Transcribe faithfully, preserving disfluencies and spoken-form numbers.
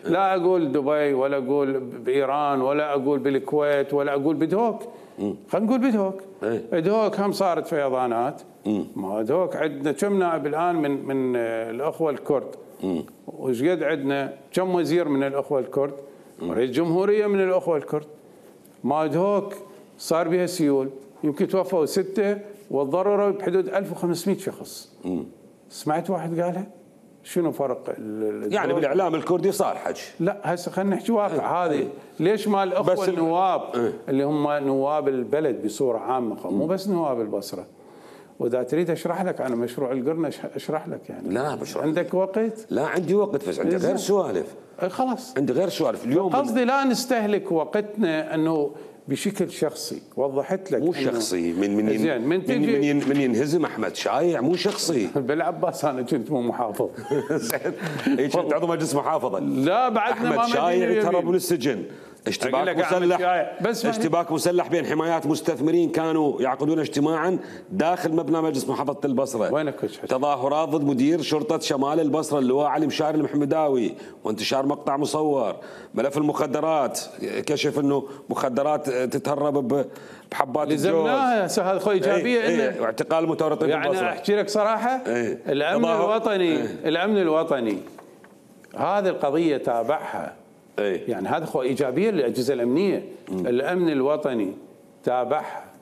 لا اقول دبي ولا اقول بايران ولا اقول بالكويت ولا اقول بدهوك. خلينا نقول بدهوك. بدهوك هم صارت فيضانات. ما بدهوك عندنا كم نائب الان من من الاخوه الكرد. وش قد عندنا كم وزير من الاخوه الكرد. رئيس جمهوريه من الاخوه الكرد. ما بدهوك صار بها سيول يمكن توفوا سته والضرورة بحدود ألف وخمسمئة شخص. سمعت واحد قالها؟ شنو فرق يعني بالاعلام الكردي صار حج؟ لا هسه خلينا نحكي واقع. هذه ليش ما الاخوه النواب اه. اللي هم نواب البلد بصوره عامه مو بس نواب البصره. واذا تريد اشرح لك عن مشروع القرن اشرح لك يعني. لا بشرح. عندك وقت؟ لا عندي وقت بس عندي غير سوالف. خلاص عندي غير سوالف اليوم. قصدي لا نستهلك وقتنا انه بشكل شخصي. وضحت لك مو شخصي. من من ين من, من, ين من ينهزم احمد شايع مو شخصي. بالعباس انا كنت مو محافظ. اي كنت عضو مجلس محافظه. لا بعدنا ما احمد شايع تهرب من السجن. اشتباك مسلح بس اشتباك مسلح بين حمايات مستثمرين كانوا يعقدون اجتماعا داخل مبنى مجلس محافظه البصره. وينك تظاهرات ضد مدير شرطه شمال البصره اللواء علي مشاري المحمداوي وانتشار مقطع مصور. ملف المخدرات كشف انه مخدرات تتهرب بحبات الجوز. لزمناها هذا خو ايجابيه ايه ايه واعتقال المتورطين يعني بالبصره. يعني احكي لك صراحه ايه الامن الوطني ايه الامن الوطني هذه القضيه تابعها. أيه؟ يعني هذا خو ايجابيه للاجهزه الامنيه. مم. الامن الوطني تابعها